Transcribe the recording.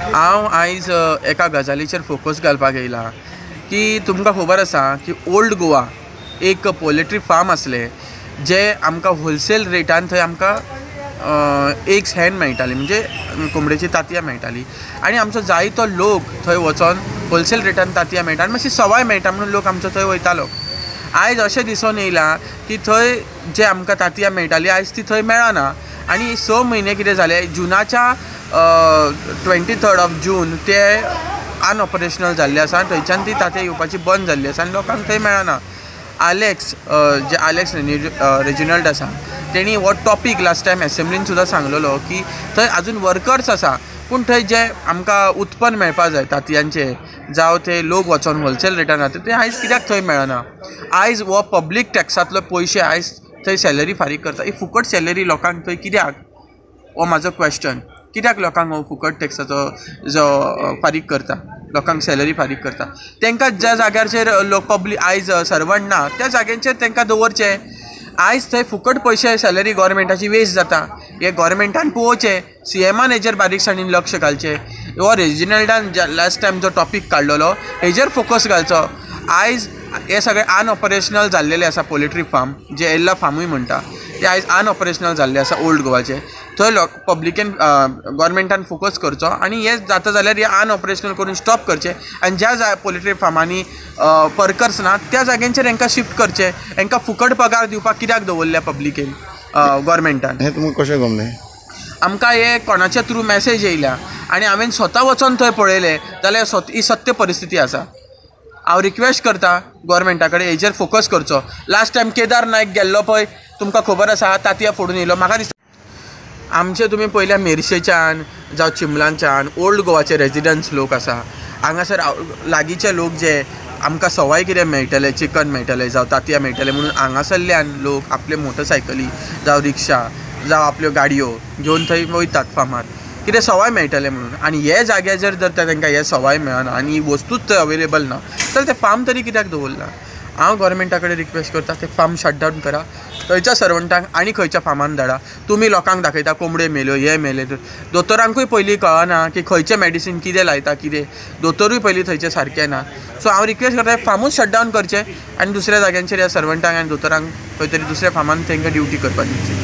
हांव आयज एका गजालीचेर फोकस घालपाक येयला की तुमकां खबर आसा की ओल्ड गोवा एक पोल्ट्री फार्म आसलें, जे आमकां होलसेल रेटान थंय आमकां एग्स हॅन मेळटाली, म्हणजे कोंबडेची तांतयां मेळटाली आनी आमचो जायतो लोक थंय वचोन होलसेल रेटान तांतयां मेळटा आनी मातशी सवाय मेळटा म्हणून लोक आमचो थंय वयतालो. आयज अशें दिसून येयलां की थंय जे आमकां तांतयां मेळटाली आयज ती थंय मेळना आनी 6 म्हयने कितें जालें, जुनाच्या 23 ऑफ जून ते अनऑपरेशनल जाल्ले आसा. थंयच्यान ती तांतयां येवपाची बंद जाल्ली आसा आनी लोकांक थंय मेळना. आलेक्स जे आलेक्स रेजिनल्ड आसा तेणी हो टॉपीक लास्ट टायम एसेंब्लीन सुद्दां सांगलेलो की थंय आजून वर्कर्स आसा, पूण थंय जे आमकां उत्पन्न मेळपा जाय तांतयांचें, जावं ते लोक वचोन होलसेल रेटान जाता ते आयज कित्याक थंय मेळना. आयज हो पब्लीक टॅक्सांतलो पयशे आयज थंय सॅलरी फारीक करता. ही फुकट सॅलरी लोकांक थंय कित्याक, हो म्हाजो क्वेश्चन. कित्याक लोकांक हो फुकट टॅक्साचो जो फारीक करता, लोकांक सॅलरी फारीक करता, तांकां ज्या जाग्याचेर लोक पब्लीक आयज सर्वंट ना त्या जाग्यांचेर तांकां दवरचें. आयज थंय फुकट पयशे सॅलरी गोवोरमेंटाची वेस्ट जाता. हे गोवोरमेंटान पळोवचें, सीएमान हेजेर बारीकसाणीन लक्ष घालचें. हो रेजिनल्डान लास्ट टायम जो टॉपीक काडलेलो हेजेर फोकस घालचो. आयज हे सगळे अनऑपरेशनल जाल्लेले आसा पोल्ट्री फार्म, जे एल्ला फार्मूय म्हणटा ते आयज अनऑपरेशनल जाल्ले आसा ओल्ड गोवाचे. थंय लोक पब्लिकेन गोवोरमेंटान फोकस करचो आनी हे जाता जाल्यार हे अनऑपरेशनल करून स्टॉप करचें आनी ज्या पोल्ट्री फार्मांनी वर्कर्स ना त्या जाग्यांचेर हेंकां शिफ्ट करचें. हेंकां फुकट पगार दिवपाक कित्याक दवरल्या पब्लिकेन गोवोरमेंटान? हें तुमकां कशें गमलें? आमकां हे कोणाच्या थ्रू मॅसेज येयल्या आनी हांवें स्वता वचोन थंय पळयलें जाल्यार ही सत्य परिस्थिती आसा. हांव रिक्वेस्ट करता गोवोरमेंटा कडेन हेजेर फोकस करचो. लास्ट टायम केदार नायक गेल्लो पळय, तुमकां खबर आसा, तांतयां फोडून येयलो. म्हाका दिसता आमचे तुमी पयल्या मेरशेच्यान जावं चिंबलांच्यान ओल्ड गोवाचे रेजिडंट्स लोक आसा, हांगासर लागींचे लोक जे आमकां सवाय कितें मेळटलें, चिकन मेळटलें जावं तांतयां मेळटलें म्हणून हांगासरल्यान लोक आपले मोटरसायकली जावं रिक्षा जावं आपल्यो गाडयो घेवन थंय वयतात फार्मार, कितें सवाय मेळटलें म्हणून. आनी हे जाग्याचेर जर तांकां हें सवाय मेळना आनी ही वस्तूच थंय अवेलेबल ना जाल्यार तें फार्म तरी कित्याक दवरलां? हांव गोवोरमेंटा कडेन रिक्वेस्ट करता तें फार्म शटडावन करा, थंयच्या सर्वंटांक आनी खंयच्या फार्मान धाडा. तुमी लोकांक दाखयता कोंबड्यो मेल्यो, हे मेले, दोतोरांकूय पयलीं कळना की खंयचें मेडिसीन कितें लायता कितें, दोतोरूय पयलीं थंयचे सारके ना. सो हांव रिक्वेस्ट करता फार्मूच शटडावन करचें आनी दुसऱ्या जाग्यांचेर ह्या सर्वंटांक आनी दोतोरांक खंय तरी दुसऱ्या फार्मान तांकां ड्युटी करपाक दिवची.